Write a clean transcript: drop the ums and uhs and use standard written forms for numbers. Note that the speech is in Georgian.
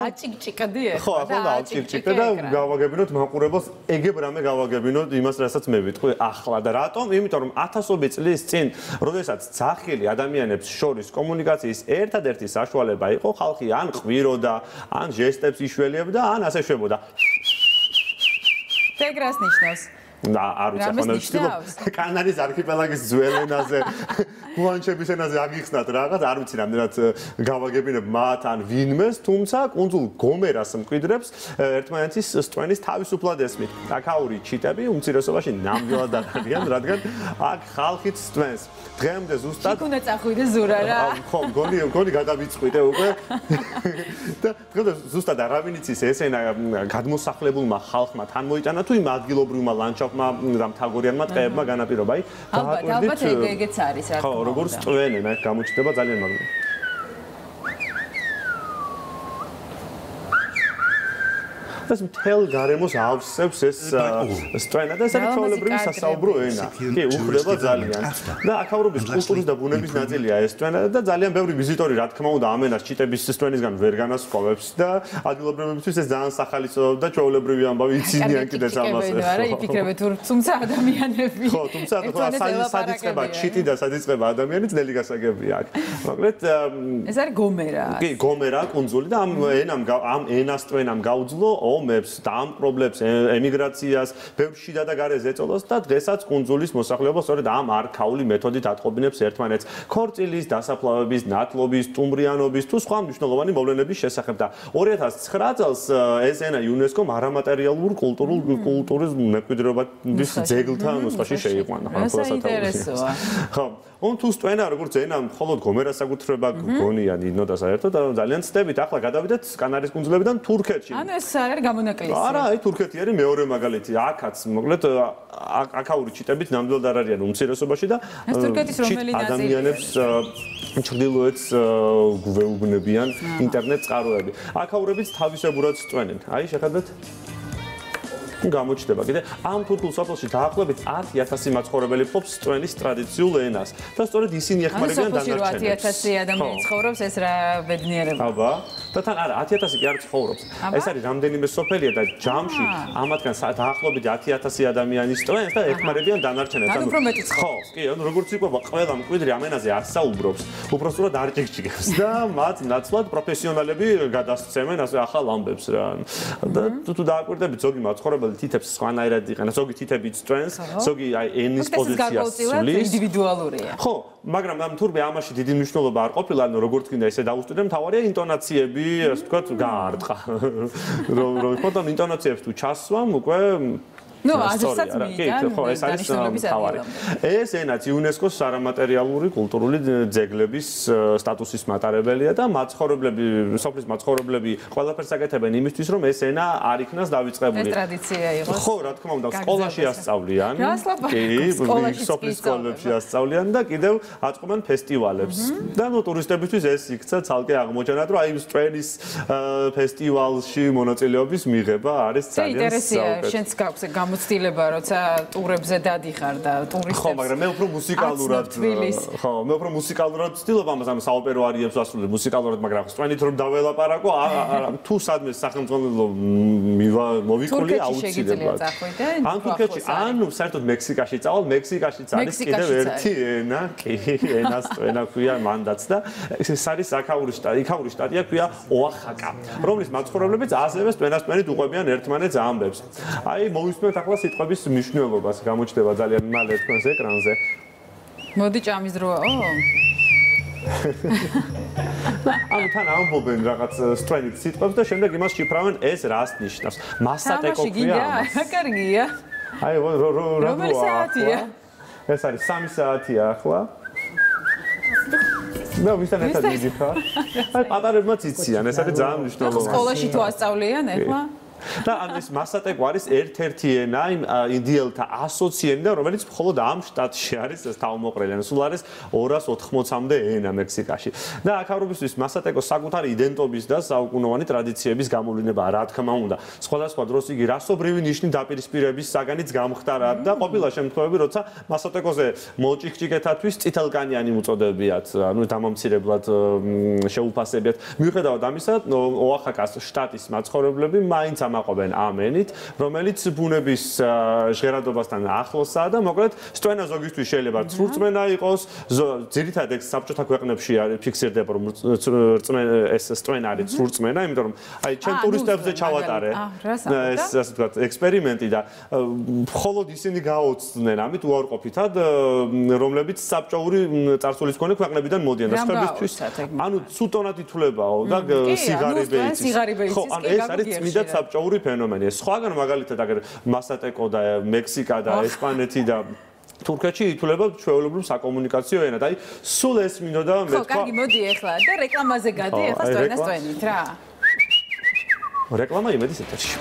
აჭიკჭიკდი ეხლა. ხო, ახლა და აჭიკჭიკდა და გავაგებინოთ მაყურებელს, ეგებ რამე გავაგებინოთ იმას, რასაც მე ვიტყვი ახლა და რატომ? იმიტომ რომ ათასობით წლის წინ, როდესაც ძახილი ადამიანებს შორის კომუნიკაციის ერთადერთი საშუალება იყო, ხალხი ან ყვიროდა, ან ჟესტებს იშველებდა, ან ასე შვებოდა. ეგრას ნიშნავს. და არ ვიცი ახლა მე ვთქვი კანარის არქიპელაგის ძველ ენაზე გუანჩების ენაზე აგიხსნათ რაღაც არ ვიცი რამდენად გავაგებინებ მათ ან ვინმეს თუმცა კუნძულ გომერას მკვიდრებს ერთმანეთის სტვენის თავისუფლად ესმით აკაური ჩიტები უმცირესობაში ნამდვილად არიან რადგან აქ ხალხით სტვენს დღემდე ზუსტად იქ უნდა წახვიდე ზურა რა ხო გონი გადავიწყვიტე უკვე და დღემდე ზუსტად არავინ იცის ეს ენა გადმოსახლებულმა ხალხმა თან მოიტანა თუ იმ ადგილობრივმა ლანდშაფტმა და მთაგორიანმა ტყეებმა განაპირობა. ალბათ ეგეც არის რა. ხო, როგორც წვენენ, აი გამოჩნდება ძალიან მაგარი. ეს მთელ გარემოს ავსებს ეს სტვენა და ეს არის ჩვეულებრივი სასაუბრო ენა. კი, უხდება ძალიან. და აქაურობის კულტურის და ბუნების ნაწილია ეს სტვენა და ძალიან ბევრი ვიზიტორი რა თქმა უნდა ამენას ჩიტების სტვენისგან ვერ განასხვავებს და ადგილობრივებისთვის ეს ძალიან სახალისო და ჩვეულებრივი ამბავი იცინიან კიდეც ამას. არა, იფიქრებთ თუმცა ადამიანები. ხო, თუმცა სად იწყება ჩიტი და სად იწყება ადამიანი ძნელი გასაგებია აქ. მოკლედ ეს არის გომერა. კი, გომერა კუნძული და ამ ენას სტვენამ გაუძლო ომებს, დაამპრობლებს ემიგრაციას, ბევრ შიდა და გარე ზეწოლას და დღესაც კუნძულის მოსახლეობა სწორედ ამ არქაული მეთოდით ატყობინებს ერთმანეთს ქორწილის, დასაფლავების, ნათლობის, სტუმრიანობის თუ სხვა მნიშვნელოვანი მოვლენების შესახებ და 2009 წელს ეს ენა იუნესკომ არამატერიალურ კულტურის მემკვიდრეობის ძეგლთან ნუსხაში შეიყვანა. საინტერესოა. ხო, თუ სტვენა როგორც ენა მხოლოდ გომერას აკუთრება გონია ნინო და საერთოდ ძალიან ცდებით ახლა გადავიდეთ კანარის კუნძულებიდან თურქეთში. ანუ ეს არის გამონაკლისი. არა, აი თურქეთი არის მეორე მაგალითი. აქაც მოკლედ აკაური ჩიტებით ნამდვილად არ არიან უმცირესობაში და თურქეთის რომელი ნაწილი ადამიანებს ჩრდილოეთს გვეუბნებიან ინტერნეტ წყაროები. აკაურებიც თავისებურად წვენენ. აი შეხედეთ გამოჩნდება კიდე ამ თურქულ სოფელში დაახლოებით 10,000 მაცხოვრებელი ფლობს სტვენის ტრადიციულ ენას და სწორედ ისინი ეხმარებიან დანარჩენებს. 10,000 ადამიანი ცხოვრობს ეს რა ბედნიერება. აბა და თან არა 10,000 კი არ ცხოვრობს. ეს არის რამდენიმე სოფელია და ჯამში ამათგან დაახლოებით 10,000 ადამიანი სტვენს და ეხმარებიან დანარჩენებს. ანუ უფრო მეტი ხო, კი, ანუ როგორც იყვება ყველა მკვიდრი ამ ენაზე არ საუბრობს, უпростоრად არ ჭიქჭიქებს და მათ ნაცვლად პროფესიონალები გადასცემენ ასე ახალ ამბებს რა. და თუ დააკვირდებით ზოგი მაცხოვრებელი თითებს სხვანაირად იყენებს, ზოგი თითები წვენს, ზოგი აი ენის პოზიციას სulis. ინდივიდუალურია. ხო, მაგრამ ამ თურმე ამაში დიდი მნიშვნელობა არ ყოფილა, ანუ როგორც გინდა ესე დაუსტურე, მთავარია ინტონაციები, ასე ვთქვათ, გაარტყა. რომ ფოტონ ინტონაციებს თუ ჩასვამ უკვე ნუ აზრსაც მიიტან, ხო, ეს არის მთავარი. ეს ენაც იუნესკოს არამატერიალური კულტურული ძეგლების სტატუსის მატარებელია და მაცხოვრებლები, სოფლის მაცხოვრებლები ყველაფერს აკეთებენ იმისთვის, რომ ეს ენა არ იქნას დავიწყებული. ეს ტრადიცია იყოს. ხო, რა თქმა უნდა, სკოლაში ასწავლიან. კი, სოფლის სკოლებში ასწავლიან და კიდევ აწყობენ ფესტივალებს. და ნუ ტურისტებისთვის ეს იქცა ცალკე აღმოჩენად, რომ აი სტვენის ფესტივალში მონაწილეობის მიღება არის ძალიან საინტერესოა. შენც გაქვს გამოცდილება, როცა ტურებზე დადიხარ და ტურისტებს ხო, მაგრამ მე უფრო მუსიკალურად ხო, მე უფრო მუსიკალურად ვცდილობ ამას, ანუ საოპერო არიებს ვასრულებ მუსიკალურად, მაგრამ სტვენით რომ დაველაპარაკო, თუ სადმე სახელმწიფო მოვიკვლია აუცილებლად. ან თურქეთში, ანუ საერთოდ მექსიკაში წავალ, მექსიკაშიც არის კიდევ ერთი ენა, კი, ენას სტვენა ქვია მანდაც და ეს არის აკაური შტატია ქვია ოახაკა, რომლის მაცხოვრებლებიც ასევე სტვენასტვენით უყვებიან ერთმანეთს ამბებს. აი მოვისმენთ ახლა სიტყვების მნიშვნელობას გამოჩნდება ძალიან მალე თქვენს ეკრანზე. მოდი ჭამის დროა. ანუ თან ამბობენ რაღაც სტვენით სიტყვებს და შემდეგ იმას შიფრავენ ეს რას ნიშნავს. მასატეკო ქვია ამას. კარგია. აი რომელი საათია? ეს არის 3 საათია ახლა. და ვისთან ერთად მიდიხარ? აი პატარებმაც იციან, ეს არის ძალიან მნიშვნელოვანი. სკოლაში თუ ასწავლიან ახლა? და ეს მასატეკო არის ერთ-ერთი ენა იმ ინდიელთა ასოციენიდან, რომელიც მხოლოდ ამ შტატში არის ეს თავმოყრილი. ანუ სულ არის 280-მდე ენა მექსიკაში. და აქავრობისთვის მასატეკო საკუთარი იდენტობის და საუკუნოვანი ტრადიციების გამოვლინებაა, რა თქმა უნდა. სხვადასხვა დროს იგი რასობრივი ნიშნით დაპირისპირების საგანიც გამხდარა და ყოფილა შემთხვევები, როცა მასატეკოზე მოჭიქჭიქეთათვის წითელკანიანი უწოდებიათ, ანუ დამამცირებლად შეუფასებიათ. მიუხედავად ამისა, ოახაკას შტატის მაცხოვრებლები მაინც ამაყობენ ამენით, რომელიც ბუნების ჟღერადობასთან ახლოსაა და მოკლედ სწვენა ზოგისთვის შეიძლება ცრურწმენა იყოს, ძირითადად საბჭოთა ქვეყნებში არის ფიქსირდება, რომ ეს სწვენა არის ცრურწმენა, იმიტომ რომ აი ჩემ ტურისტებზე ჩავატარე ეს ასე ვთქვათ ექსპერიმენტი და მხოლოდ ისინი გაოცდნენ ამით უარყოფითად, რომლებიც საბჭოური წარსულის მქონე ქვეყნებიდან მოდიან და სხვებისთვის ანუ ცუდონად ითვლებაო და სიგარები იცის. ხო, ანუ ეს არის წმინდა საბჭოური ფენომენი. სხვაგან მაგალითად აგერ მასატეკო და მექსიკა და ესპანეთი და თურქეთში ითვლება ჩვეულებრივ საკომუნიკაციო ენად. აი, სულ ეს მინდოდა მეთქვა. ხო, კარგი, მოდი ახლა და რეკლამაზე გადი, ახლა სწვენით რა. რეკლამა იმედის ეთერში.